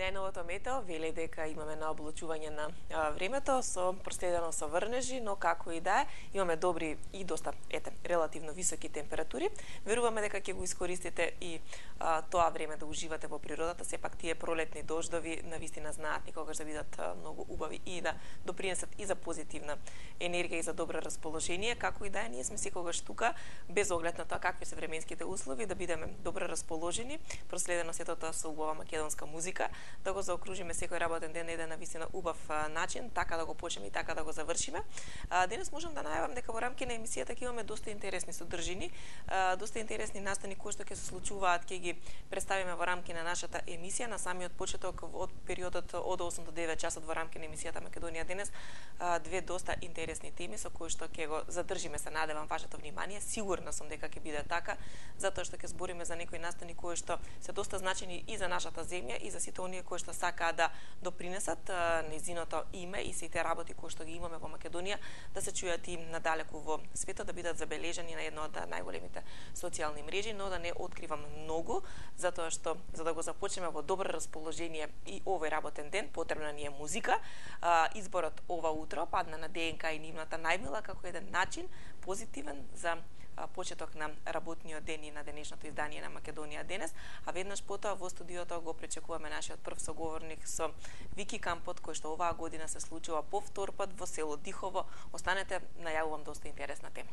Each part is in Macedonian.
Најновото метео вели дека имаме наоблучување на времето со проследено со врнежи, но како и да е, имаме добри и доста релативно високи температури. Веруваме дека ќе го искористите и тоа време да уживате во природата. Сепак тие пролетни дождови навистина знаат никогаш да бидат многу убави и да допринесат и за позитивна енергија и за добро расположение. Како и да е, ние сме секогаш тука без оглед на тоа какви се временските услови да бидеме добро расположени, проследено сето тоа со убава македонска музика, да го заокружиме секој работен ден на еден навистина убав начин, така да го почнеме и така да го завршиме. Денес можам да најавам дека во рамки на емисијата ќе имаме доста интересни содржини, доста интересни настани кои што ќе се случуваат, ќе ги представиме во рамки на нашата емисија на самиот почеток од периодот од 8 до 9 часот во рамки на емисијата Македонија денес. Две доста интересни теми со кои што ќе го задржиме, се надевам вашето внимание. Сигурна сум дека ќе биде така, затоа што ќе збориме за некои настани кои што се доста значени и за нашата земја и за сите оние кои што сакаат да допринесат незиното име и сите работи кои што ги имаме во Македонија да се чујат и надалеку во светот, да бидат забележани на една од најголемите социјални мрежи, но да не откривам многу, затоа што за да го започнеме во добро расположение и овој работен ден, потребна ни е музика. Изборот ова утро падна на ДНК и нивната најмила како еден начин позитивен за почеток на работниот ден и на денешното издание на Македонија денес, а веднаш потоа во студиото го пречекуваме нашиот прв соговорник со Вики Кампот, кој што оваа година се случува по втор пат во село Дихово. Останете, најавувам доста интересна тема.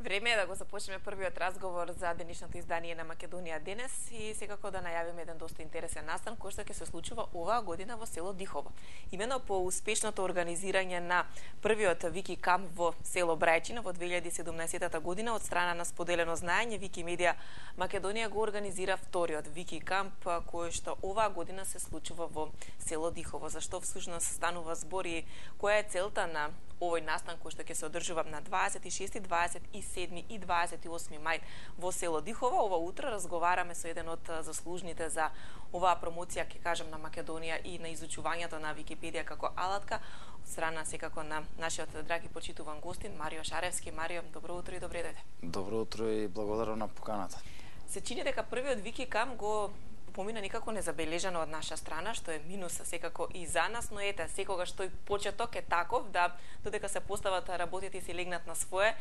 Време е да го започнеме првиот разговор за денешното издание на Македонија денес и секако да најавиме еден доста интересен настан кој што ќе се случува оваа година во село Дихово. Имено по успешното организирање на првиот Вики камп во село Брајчина во 2017 година од страна на споделено знаење, Викимедија Македонија го организира вториот Вики камп кој што оваа година се случува во село Дихово. Зашто всушност станува збор и која е целта на овој настан кој што ќе се одржува на 26, 27 и 28 мај во село Дихово. Ова утро разговараме со еден од заслужните за оваа промоција, ќе кажам, на Македонија и на изучувањето на Википедија како алатка, од страна секако на нашиот драги почитуван гостин Марио Шаревски. Марио, добро утро и добре дојде. Добро утро и благодарам на поканата. Се чини дека првиот Вики камп го помина некако незабележано од наша страна, што е минус секако и за нас, но ете, секогаш тој почеток е таков да додека се постават работите и се легнат на свое,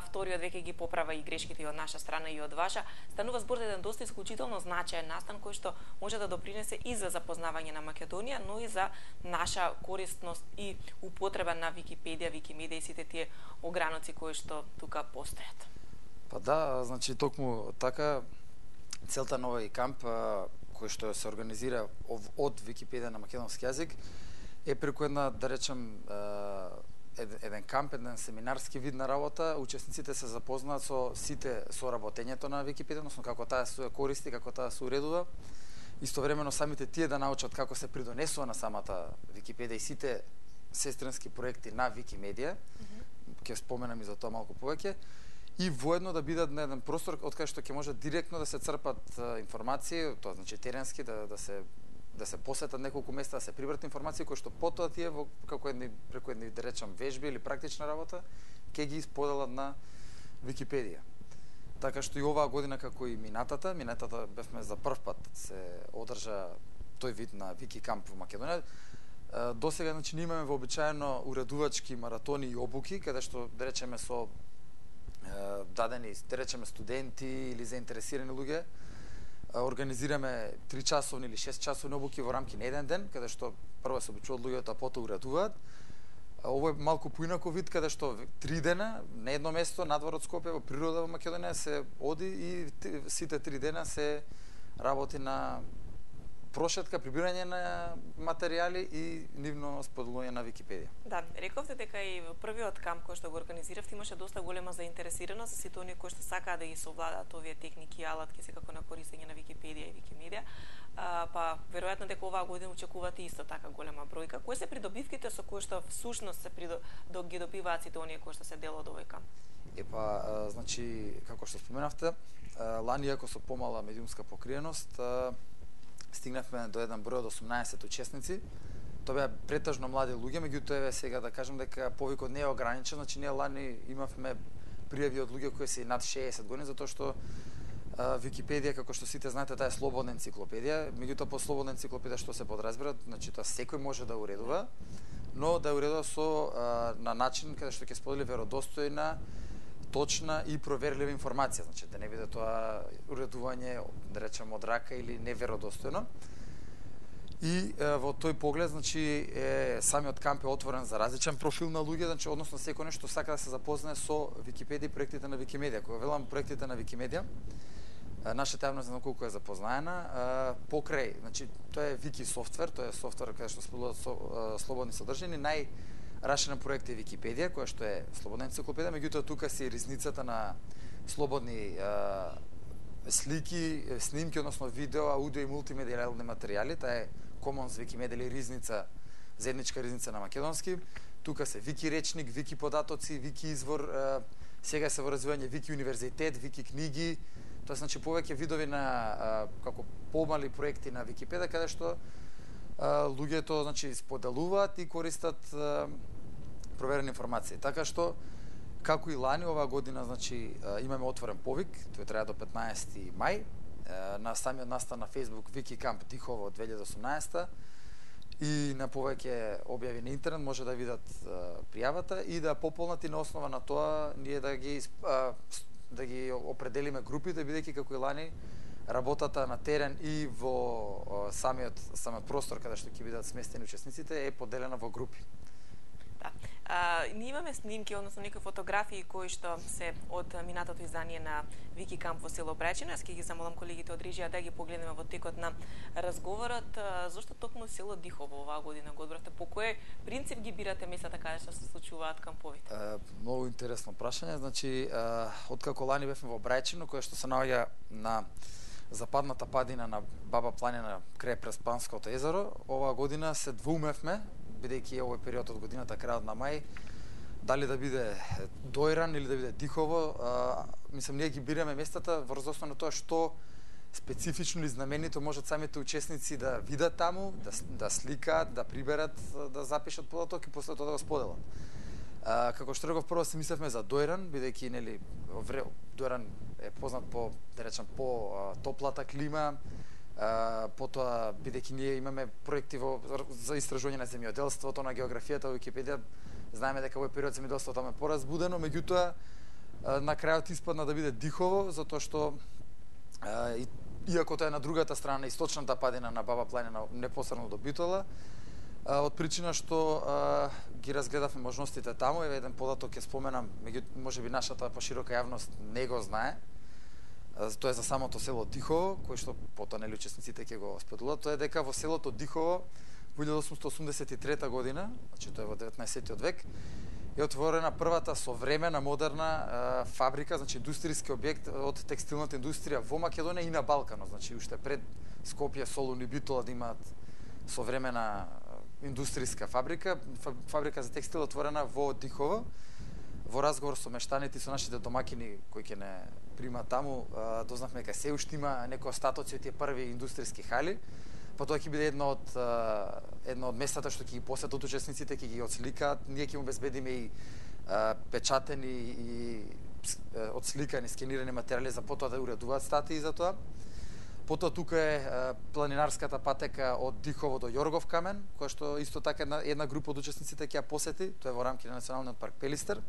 вториот веќе ги поправа и грешките и од наша страна и од ваша. Станува збор за еден доста исклучително значаен настан кој што може да допринесе и за запознавање на Македонија, но и за наша корисност и употреба на Википедија, Викимедија и сите тие ограноци кои што тука постојат. Па да, значи токму така целта на овој камп кој што се организира од Википедија на македонски јазик е преку една, да речем, еден камп, еден семинарски вид на работа. Учесниците се запознаат со сите соработењето на Википедија, односно како таа се користи, како таа се уредува. Истовремено самите тие да научат како се придонесува на самата Википедија и сите сестрински проекти на Викимедија. Ќе споменам и за тоа малку повеќе. И воедно да бидат на еден простор од кај што ќе може директно да се црпат информации, тоа значи теренски, да се посетат неколку места, да се прибрат информации кои што потоа тие преку едни да речам вежби или практична работа ќе ги споделат на Википедија. Така што и оваа година како и минатата бевме за прв пат се одржа тој вид на Вики камп во Македонија. Досега значи имаме вообичаено уредувачки маратони и обуки каде што да речеме со дадени, да речеме, студенти или заинтересирани луѓе, организираме 3-часовни или 6-часовни обуки во рамки на еден ден, каде што прво се обучуваат луѓето, а потоа уредуваат. Ово е малку поинаков вид, каде што 3 дена на едно место надвор од Скопје во природа во Македонија се оди и сите 3 дена се работи на прошетка, прибирање на материјали и нивно споделување на Википедија. Да, рековте дека и во првиот камп кој што го организиравте имаше доста голема заинтересираност за сите оние кои што сакаат да ги совладаат овие техники и алатки секако на користење на Википедија и Викимедија. Па веројатно дека оваа година очекувате исто така голема бројка. Кои се придобивките со кои што всушност ги добиваат сите оние кои што се дел од овој камп? Значи, како што споменавте, лани иако со помала медиумска покриеност, стигнавме до еден број од 18 учесници. Тоа беа претежно млади луѓе, меѓутоа еве сега да кажам дека повикот не е ограничен, значи ние лани имавме пријави од луѓе кои се над 60 години, затоа што Википедија, како што сите знаете, таа е слободна енциклопедија, меѓутоа по слободна енциклопедија што се подразбира, значи тоа секој може да уредува, но да уредува на начин каде што ќе сподели веродостојна, точна и проверлива информација, значи да не биде тоа уредување, да речем, од рака или неверодостојно. И во тој поглед, значи, самиот камп е отворен за различен профил на луѓе, значи, односно секој нешто сака да се запознае со Википедија и проектите на Викимедија. Кога велам проектите на Викимедија, нашата јавност знам колку е запознаена, покрај, значи, тоа е Вики софтвер, тоа е софтвер каде што споделуваат слободни содржини, Раширен проект е Википедија, која што е слободна енциклопедија, меѓутоа тука се и ризницата на слободни слики, снимки, односно видео, аудио и мултимедијални материјали. Таа е Commons Wikimedia или ризница, заедничка ризница на македонски. Тука се Вики речник, Вики податоци, Вики извор, сега се во развивање Вики универзитет, Вики книги. Тоа значи повеќе видови на како помали проекти на Википедија каде што луѓето значи споделуваат и користат проверени информации. Така што како и лани оваа година значи имаме отворен повик, тој трае до 15 мај на самиот настан на Facebook Вики камп Дихово 2018 и на повеќе објави на интернет може да видат пријавата и да пополнат и на основа на тоа ние да ги определиме групите, бидејќи како и лани работата на терен и во самиот простор каде што ќе бидат сместени учесниците е поделена во групи. Да. Ние имаме снимки, односно некои фотографии кои што се од минатото издание на Вики Камп во село Брајчино. Јас ќе ги замолам колегите од режија да ги погледнеме во текот на разговорот. Зошто токму село Дихово оваа година го одбравте? По кој принцип ги бирате местата каде што се случуваат камповите? Многу интересно прашање. Значи, откако лани бевме во Брајчино, кое што се наоѓа на западната падина на Баба планина крај Преспанското езеро, оваа година се двоумевме, бидејќи е овој период од годината, крајот на мај, дали да биде Дојран или да биде Дихово. Мислам, ние ги бираме местата врз основа на тоа што специфично или знаменито можат самите учесници да видат таму, да сликаат, да приберат, да запишат податок и после тоа да го споделат. Како што реков, прво се мислевме за Дојран, бидејќи нели Дојран е познат по, да речам, по топлата клима, потоа бидејќи ние имаме проекти за истражување на земјоделството, на географијата во Википедија, знаеме дека овој период земјоделството таму е поразбудено, меѓутоа на крајот испадна да биде Дихово, затоа што иако тоа е на другата страна, источната падина на Баба планина, непосредно до Битола, од причина што ги разгледавме можностите таму, еве еден податок ќе споменам, меѓутоа можеби нашата поширока јавност не го знае. Тоа е за самото село Дихово, кој што потоа нели учесниците ќе го споделат. Тоа е дека во селото Дихово во 1883 година, значи тоа е во 19 век, е отворена првата современа модерна фабрика, значи индустријски објект од текстилната индустрија во Македонија и на Балканот, значи уште пред Скопје, Солун и Битола да имаат современа индустријска фабрика, фабрика за текстил отворена во Дихово. Во разговор со мештаните и со нашите домакини кои ќе не примат таму, дознавме дека се уште има некои остатоци од тие први индустријски хали. Потоа ќе биде едно од местата што ќе ги посетат учесниците, ќе ги отсликаат. Ние ќе им обезбедиме и печатени и отсликани, скенирани материјали за потоа да уредуваат статии за тоа. Потоа тука е планинарската патека од Дихово до Јоргов камен, која што исто така една група од учесниците ќе ја посети. Тоа е во рамки на Националниот парк Пелистер.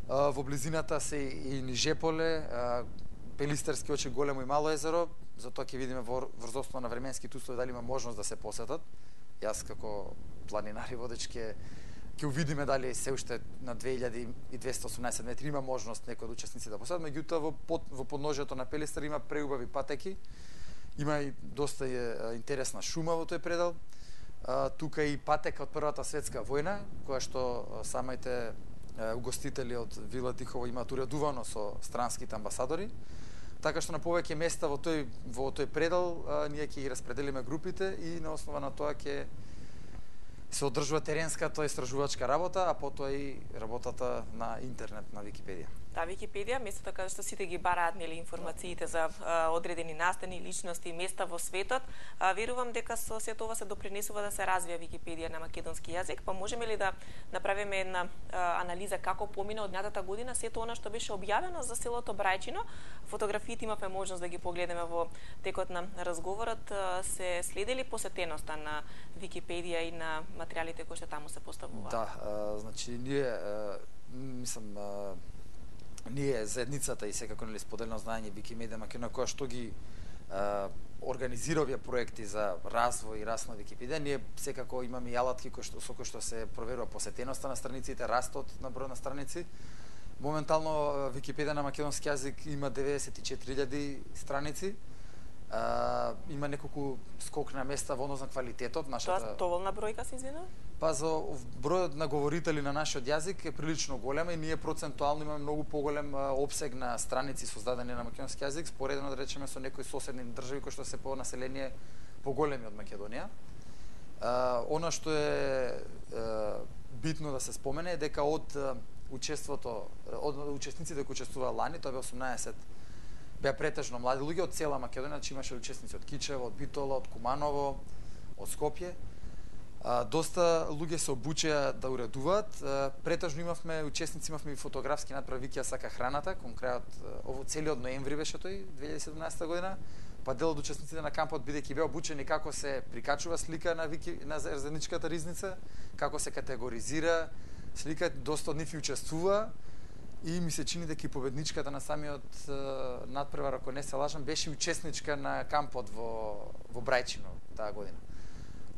Во близината се и Нижеполе, Пелистерски очи, Големо и Мало езеро, затоа ќе видиме врз основа на временските услови дали има можност да се посетат. Јас како планинар и водач ќе увидиме дали се уште на 2218 метри има можност некој од учесници да посетат, меѓутоа во подножјето на Пелистер има преубави патеки, има и доста интересна шума во тој предел. Тука и патека од Првата светска војна, која што самите угостители од Вила Дихово имаат уредувано со странските амбасадори. Така што на повеќе места во тој предел ние ќе ги распределиме групите и на основа на тоа ќе се одржува теренската истражувачка работа, а потоа и работата на интернет на Википедија. Да, Википедија, местото каде што сите ги бараат нели информациите за одредени настани, личности, места во светот, верувам дека со сето ова се допринесува да се развија Википедија на македонски јазик, па можеме ли да направиме една анализа како помина од минатата година сето она што беше објавено за селото Брајчино? Фотографиите имавме можност да ги погледнеме во текот на разговорот. Се следели посетеноста на Википедија и на материјалите кои што таму се поставуваат? Да, значи ние заедницата и секако нели споделено знаење Викимедија Македонија која што ги организира овие проекти за развој и раст на Википедија, ние секако имаме и алатки со кои што се проверува посетеноста на страниците, растот на број на страници. Моментално Википедија на македонски јазик има 94.000 страници. Има неколку скок на места во однос на квалитетот. Тоа доволна бројка се извинувам? Па за бројот на говорители на нашиот јазик е прилично голем и ние процентуално имаме многу поголем опсег на страници создадени на македонски јазик, споредено да речеме со некои соседни држави кои што се по население поголеми од Македонија. Она што е битно да се спомене е дека од учесниците кои учествуваа лани, тоа бе 18, беа претежно млади луѓе од цела Македонија, значи имаше учесници од Кичево, од Битола, од Куманово, од Скопје. Доста луѓе се обучеа да уредуваат. Претежно имавме учесници, имавме и фотографски надпрев Викија сака храната, кон крајот целиот ноември беше тој 2017 година. Па дел од учесниците на кампот бидејќи беа обучени како се прикачува слика на заедничката ризница, како се категоризира слика, доста од нив учествува. И ми се чини дека и победничката на самиот надпревар, ако не се лажам, беше учесничка на кампот во Брајчино таа година.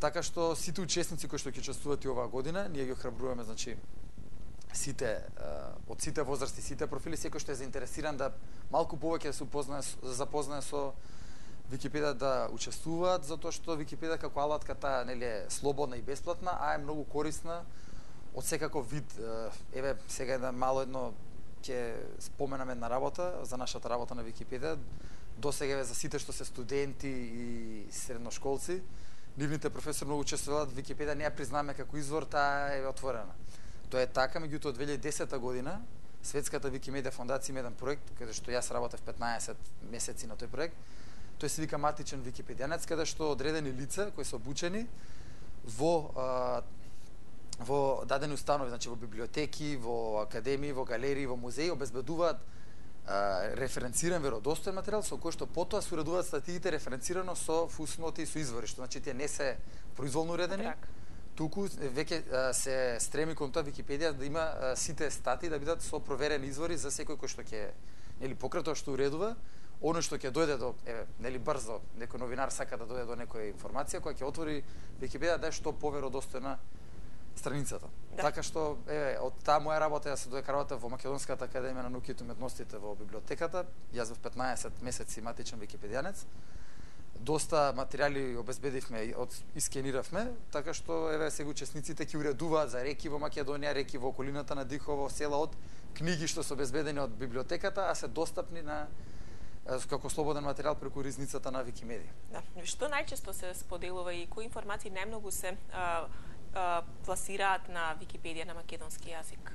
Така што сите учесници кои што ќе учествуваат и оваа година, ние ги охрабруваме, значи сите од сите возрасти, сите профили, секој што е заинтересиран да малку повеќе да се запознае со Википедија, да учествуваат, затоа што Википедија како алатка таа нели е слободна и бесплатна, а е многу корисна од секаков вид. Еве сега едно ќе споменам една работа за нашата работа на Википедија. Досега за сите што се студенти и средношколци, нивните професори многу учествуваат. Википедија не ја признаме како извор, таа е отворена. Тоа е така, меѓутоа од 2010 година Светската Викимедија фондација има еден проект каде што јас работев 15 месеци на тој проект. Тој се вика Матичен википедијанец, каде што одредени лица кои се обучени во дадени установи, значи во библиотеки, во академии, во галерии, во музеи обезбедуваат референциран веродостоен материјал со кој што потоа се уредуваат статиите референцирано со фусноти и со извори, што значи тие не се произволно уредени. Туку веќе се стреми кон тоа Википедија да има сите статии да бидат со проверени извори за секој кој што ќе нели покрај тоа што уредува, оно што ќе дојде до нели брзо, некој новинар сака да дојде до некоја информација која ќе отвори Википедија да е што поверодостојна страницата. Да. Така што од таа моја работа јас се додека во Македонската академија на науките и уметностите во библиотеката, јас во 15 месеци матичен википедијанец. Доста материјали обезбедивме, искениравме, така што сега учесниците ќе уредуваат за реки во Македонија, реки во околината на Дихово, села од книги што се обезбедени од библиотеката, а се достапни на како слободен материјал преку ризницата на Викимедија. Да. Што најчесто се споделува и кои информации најмногу се пласираат на Википедија на македонски јазик?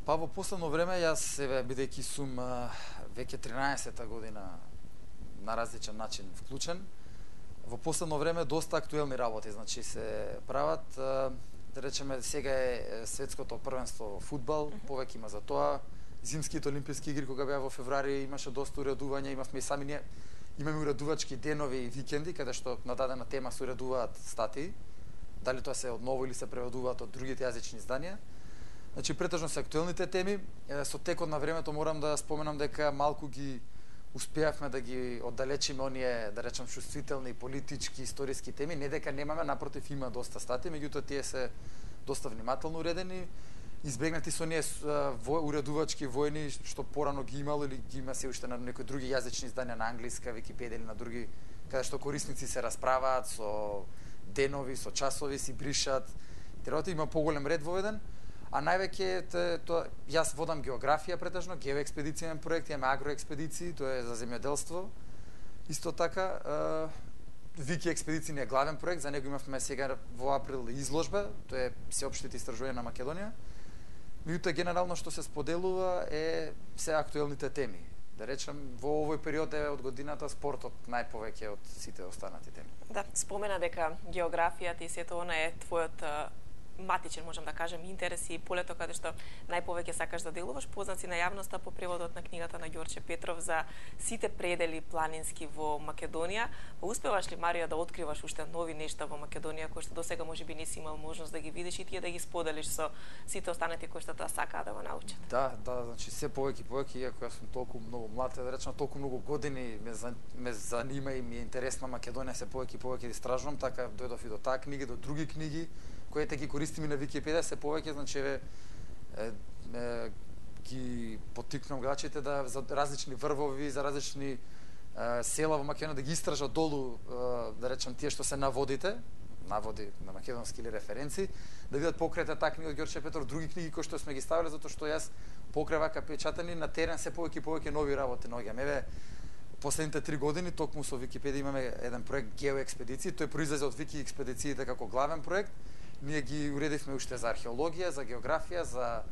Па во последно време јас бидејќи сум веќе 13-та година на различен начин вклучен, во последно време доста актуелни работи, значи се прават, да речеме сега е светското првенство во фудбал, повеќе има за тоа. Зимските олимписки игри кога беа во февруари имаше доста уредувања, имавме и сами ние имаме уредувачки денови и викенди каде што на дадена тема се уредуваат статии. Дали тоа се одново или се преведуваат од другите јазични изданија. Значи претежно се актуелните теми. Со текот на времето морам да споменам дека малку ги успеавме да ги оддалечиме оние, да речам, чувствителни политички, историски теми. Не дека немаме, напротив има доста статии, меѓутоа тие се доста внимателно уредени. Избегнати со оние уредувачки војни што порано ги имало или ги има се уште на некои други јазични изданија на англиска Википедија или на други, каде што корисници се расправаат со денови, со часови, си бришат. Тероти има поголем ред воведен, а највеќе тоа јас водам географија претежно, геоекспедицијен проект, имаме агроекспедиции, тоа е за земјоделство. Исто така Вики експедиции е главен проект, за него имавме сега во април изложба, тоа е сеопштите истражувања на Македонија. Меѓутоа генерално што се споделува е се актуелните теми. Да речем, во овој период од годината спортот најповеќе од сите останати теми. Да, спомена дека географијата и сето она е твојот матичен, можам да кажем, интерес и полето каде што најповеќе сакаш да делуваш. Познат си на јавноста по преводот на книгата на Ѓорче Петров за сите предели планински во Македонија. Успеваш ли, Марио, да откриваш уште нови нешта во Македонија кои што досега можеби не си имал можност да ги видиш и тие да ги споделиш со сите останати кои што тоа сакаат да го научат? Да, значи се повеќе и повеќе, иако јас сум толку многу млад, да речам, толку многу години ме занима и ми е интересна Македонија, се повеќе и повеќе да истражувам, така дојдов и до таа книга, до други книги кои ги користиме на Википедија, се повеќе, значи ги поттикнувам гледачите да за различни врвови, за различни села во Македонија да ги истражат долу, да речем, тие што се наводи на македонски или референци, да видат покрај таа книга од Ѓорче Петров, други книги кои што сме ги ставиле, затоа што јас покрај вака печатани на терен се повеќе и повеќе нови работи наоѓам. Еве, последните 3 години токму со Википедија имаме еден проект геоекспедиции, тој произлезе од Вики експедициите како главен проект. Ние ги уредивме уште за археологија, за географија, за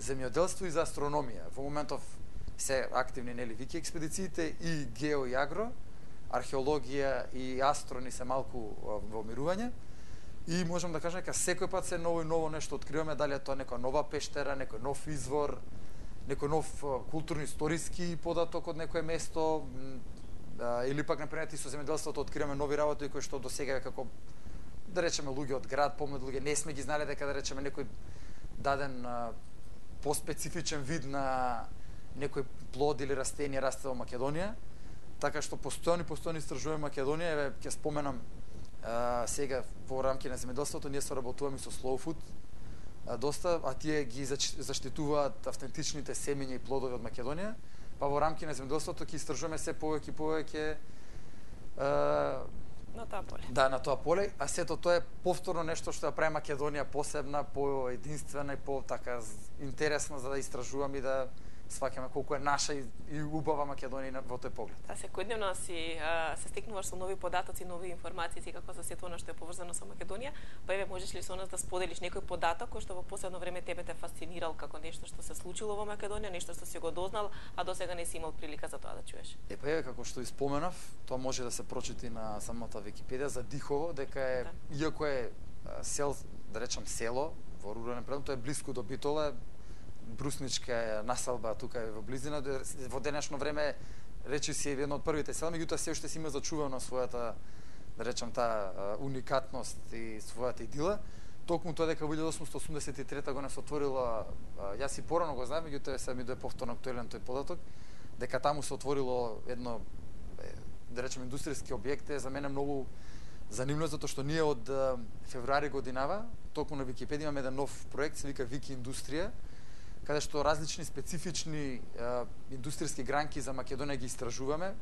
земјоделство и за астрономија. Во моментов се активни нели Вики експедициите и гео и агро, археологија и астрони се малку во мирување. И можам да кажам дека секој пат се ново и ново нешто откриваме, дали е тоа некоја нова пештера, некој нов извор, некој нов културно-историски податок од некое место, или пак например со земјоделството откриваме нови работи кои што досега како да речеме луѓе од град, помнат луѓе, не сме ги знаеле дека да речеме некој даден поспецифичен вид на некој плод или растение расте во Македонија. Така што постојано истражуваме Македонија, еве ќе споменам Сега во рамки на земјоделството ние соработуваме со Slow Food доста, а тие ги заштитуваат автентичните семења и плодови од Македонија, па во рамки на земјоделството ќе истражуваме се повеќе на тоа поле. Да, на тоа поле, а сето тоа е повторно нешто што ја прави Македонија посебна, поединствена и така интересна за да истражуваме и да сваќаме колку е наша и убава Македонија во тој поглед. Да, секојдневно се стекнуваш со нови податоци, нови информации, како за сето она што е поврзано со Македонија, па еве можеш ли со нас да споделиш некој податок кој што во последно време тебе те фасцинирал како нешто што се случило во Македонија, нешто што си го дознал, а досега не си имал прилика за тоа да чуеш? Па еве како што испоменав, тоа може да се прочити на самата Википедија за Дихово, дека е иако е да речам село во рурален предел, тоа е блиску до Битола, брусничка населба тука е во близина. Во денешно време речи си едно од првите села, меѓутоа се уште си има зачувано својата, да речам, таа уникатност и својата идила. Токму тоа дека во 1883 година се отворила, јас и порано го знам, меѓутоа се ми дое повторно актуелен тој податок, дека таму се отворило едно, да речем, индустријски објект, е за мене многу занимлjivo затоа што ние од февруари годинава, токму на Википедија имаме еден нов проект, се вика Вики Индустрија, каде што различни специфични индустријски гранки за Македонија ги истражуваме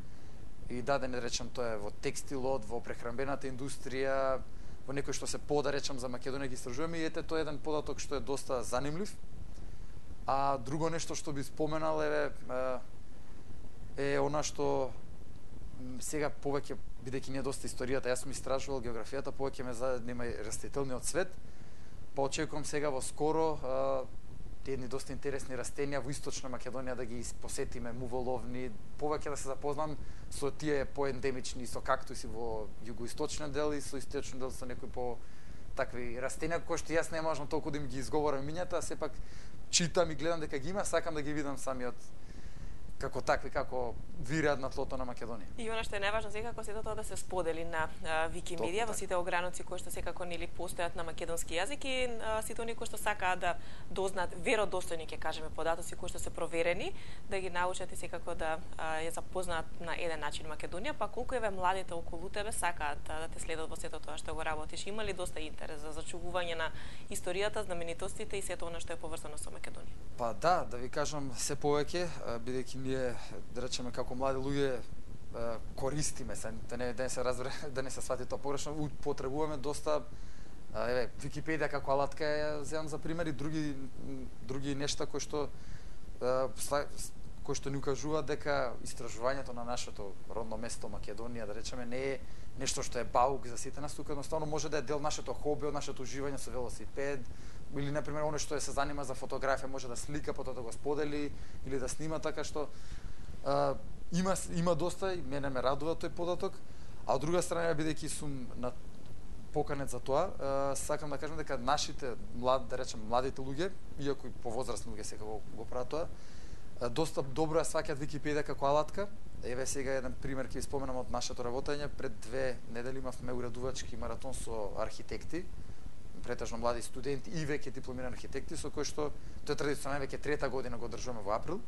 и да не речем тоа е во текстилот, во прехранбената индустрија, во некој што се да речем за Македонија ги истражуваме и ете тоа е еден податок што е доста занимлив. А друго нешто што би споменал е она што сега повеќе, бидејќи не е доста историјата, јас сум истражувал географијата, повеќе ме занема растителниот свет, па очекувам сега во скоро едни доста интересни растенија во источна Македонија да ги посетиме, муволовни, повеќе да се запознам со тие поендемични, со кактуси во југоисточниот дел и со источниот дел со некои по такви растенија кои што јас не можам толку да им ги изговорам имињата, а сепак читам и гледам дека ги има, сакам да ги видам самиот како такви, како вираат на тлото на Македонија. И она што е најважно секако сето тоа да се сподели на Викимедија во сите ограници кои што секако нели постојат на македонски јазик и сите оние кои што сакаат да дознаат веродостојни, ќе кажеме, податоци кои што се проверени, да ги научат и секако да ја запознаат на еден начин Македонија, па колку еве младите околу тебе сакаат да те следат во сето тоа што го работиш, има ли доста интерес за зачувување на историјата, знаменитостите и сето она што е поврзано со Македонија? Па да ви кажам се повеќе, бидејќи ние, да речеме, како млади луѓе користиме се, да не се разбере, да не се свати тоа погрешно, употребуваме доста, еве, Википедија како алатка ја земам за пример и други нешта кои што ни укажуваат дека истражувањето на нашето родно место Македонија, да речеме, не е нешто што е баук за сите нас, тука едноставно може да е дел нашето хоби, од нашето уживање со велосипед, или например оној што се занима за фотографија може да слика, потоа да го сподели или да снима, така што има доста и мене ме радува тој податок, а од друга страна бидејќи сум поканет за тоа, сакам да кажам дека нашите младите луѓе, иако и повозрастни луѓе сега го прават тоа, доста добро ја сваќаат Википедија како алатка. Еве сега еден пример ќе споменам од нашето работење. Пред 2 недели имавме уредувачки маратон со архитекти, претежно млади студенти и веќе дипломирани архитекти, со кои што тој традиционално веќе 3-та година го одржуваме во април.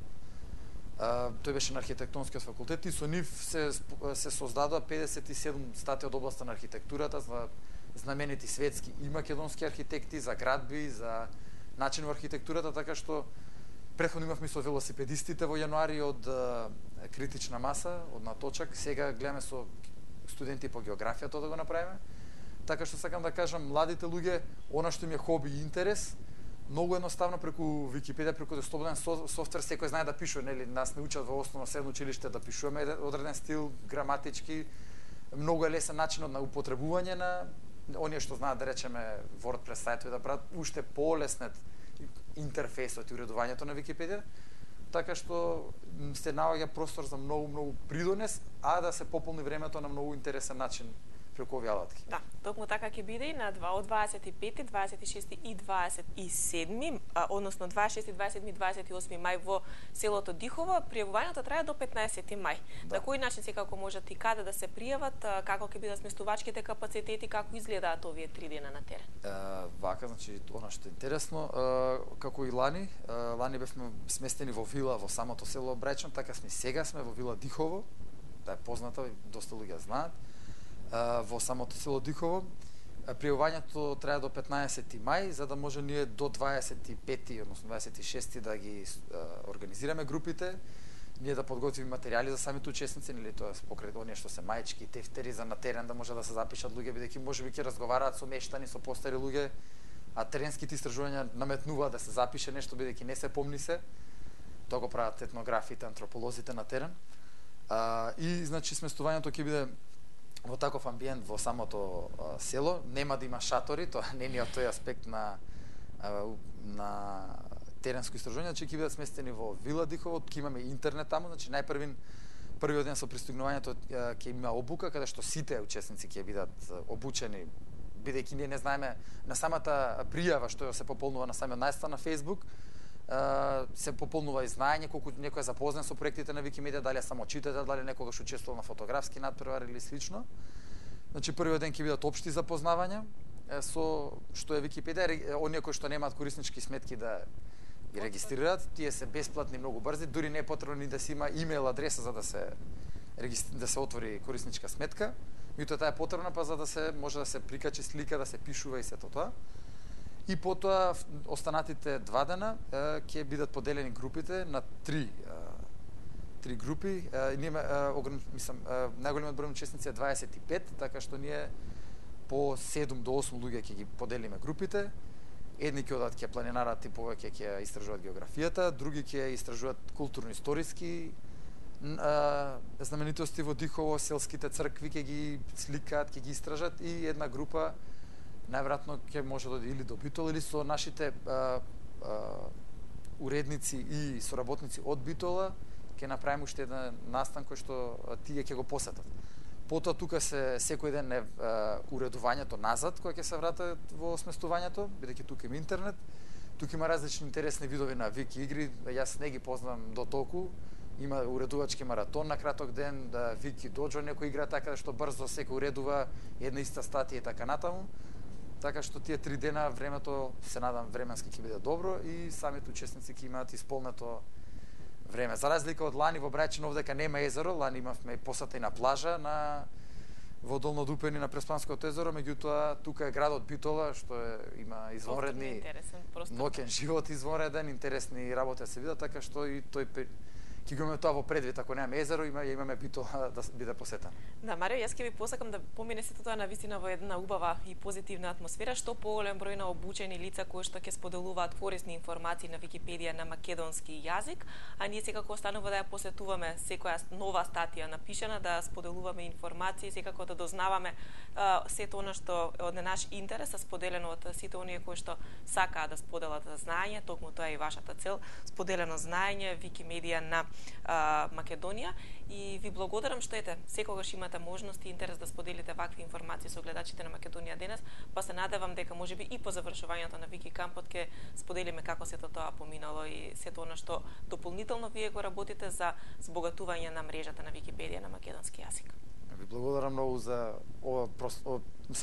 Тој беше на архитектонскиот факултет и со нив се создадоа 57 статии од областа на архитектурата за знаменити светски и македонски архитекти, за градби, за начин во архитектурата, така што претходно имавме со велосипедистите во јануари од критична маса, од наточак, сега гледаме со студенти по географија тоа да го направиме. Така што сакам да кажам, младите луѓе, она што им е хоби и интерес, многу едноставно преку Википедија, преку слободен софтвер, секој знае да пишува, нели, нас не учат во основно средно училиште да пишуваме одреден стил, граматички, многу е лесен начинот на употребување на оние што знаат да речеме WordPress сајтови да прават уште полеснет интерфејсот и уредувањето на Википедија, така што се наоѓа простор за многу придонес, а да се пополни времето на многу интересен начин преку овие алатки. Да, токму така ќе биде и на од 25, 26 и 27, односно 26, 27 и 28 мај во селото Дихово. Пријавувањето трае до 15 мај. Да. На кој начин секако можат и каде да се пријават, како ќе бидат сместувачките капацитети, како изгледаат овие 3 дена на терен? Вака, значи, она што е интересно, како и лани бевме сместени во вила во самото село Брајчан, така сега сме во вила Дихово, да е позната, доста луѓе знаат. во самото село Дихово. Пријавувањето трае до 15 мај, за да може ние до 25, односно 26 да ги организираме групите, ние да подготвиме материјали за самите учесници, нели тоа покрај оние што се маички, тефтери за на терен да може да се запишат луѓе, бидејќи можеби ќе разговараат со мештани, со постари луѓе, а теренските истражувања наметнуваат да се запише нешто бидејќи не се помни се. Тоа го прават етнографите, антрополозите на терен. И значи сместувањето ќе биде во таков амбиент во самото село, нема да има шатори, тоа не е тој аспект на теренско истражување, че ќе бидат сместени во Вила Дихово, ќе имаме интернет таму, значи првиот ден со пристигнувањето ќе има обука каде што сите учесници ќе бидат обучени, бидејќи ние не знаеме на самата пријава што се пополнува на самиот најстан на Facebook, се пополнува и знаење колку некој е запознат со проектите на Викимедија, дали е само читател, дали некогаш учествувал на фотографски надпревари или слично. Значи првиот ден ќе бидат општи запознавања со што е Википедија, оние кои што немаат кориснички сметки да ги регистрираат, тие се бесплатни, многу брзи, дури не е потребно ни да се има имейл адреса за да се отвори корисничка сметка. Меѓутоа таа е потребна за да се може да се прикачи слика, да се пишува и сето тоа. И потоа останатите 2 дена ќе бидат поделени групите на три групи. Ние најголемиот број учесници е 25, така што ние по 7 до 8 луѓе ќе ги поделиме групите. Едни ќе одат ќе планинарат и повеќе ќе истражуваат географијата, други ќе истражуваат културно-историски знаменитости во Дихово, селските цркви ќе ги сликаат, ќе ги истражат, и една група најверојатно ќе може да оди или до Битола или со нашите уредници и соработници од Битола ќе направиме уште еден настан кој што тие ќе го посетат. Потоа тука се секој ден е уредувањето назад кој ќе се врата во сместувањето, бидејќи тука има интернет. Тука има различни интересни видови на вики игри, јас не ги познам до толку. Има уредувачки маратон на краток ден, вики доџо, некој игра така што брзо секој уредува една иста статија и така натаму. Така што тие 3 дена времето се надам временски ќе биде добро и самите учесници ќе имаат исполнето време. За разлика од лани во Брајчин, овдека нема езеро, лани имавме посета и на плажа во Долно Дупени на Преспанското езеро, меѓутоа тука е градот Битола што има извонредни ноќен живот, извонреден, интересни работи се видат, така што и тој ќе го имаме тоа во предвид, ако немаме езеро, имаме Битола да биде посетен. Да, Марио, јас ќе ви посакам да помине сето тоа навистина во една убава и позитивна атмосфера, што поголем број на обучени лица кои што ќе споделуваат корисни информации на Википедија на македонски јазик, а ние секако останува да ја посетуваме секоја нова статија напишана, да споделуваме информации, секако да дознаваме сето она што е од наш интерес, споделено од сите оние кои што сакаат да споделат знаење, токму тоа е и вашата цел, споделено знаење, Викимедија на Македонија, и ви благодарам што секогаш имате можност и интерес да споделите вакви информации со гледачите на Македонија денес, па се надевам дека можеби и по завршувањето на Вики кампот ќе споделиме како сето тоа поминало и сето она што дополнително вие го работите за збогатување на мрежата на Википедија на македонски јазик. Ви благодарам многу за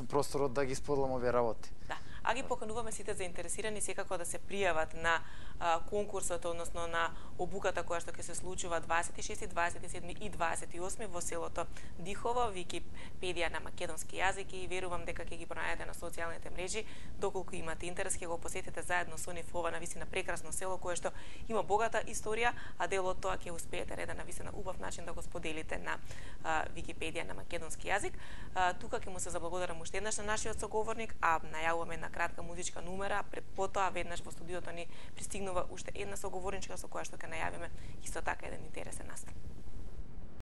просторот да ги споделам овие работи. Да, а ги покануваме сите заинтересирани секако да се пријават на конкурсот, односно на обуката која што ќе се случува 26, 27 и 28 во селото Дихово, Википедија на македонски јазик, и верувам дека ќе ги пронајдете на социјалните мрежи. Доколку имате интерес, ќе го посетите заедно со нив ова навистина прекрасно село кое што има богата историја, а дел од тоа ќе успеете на еден навистина убав начин да го споделите на Википедија на македонски јазик. Тука ќе му се заблагодарам уште еднаш на нашиот соговорник, а најавуваме една кратка музичка numera, потоа веднаш во студиото ни пристигнува уште една соговорничка со која што ќе најавиме исто така еден интересен настан.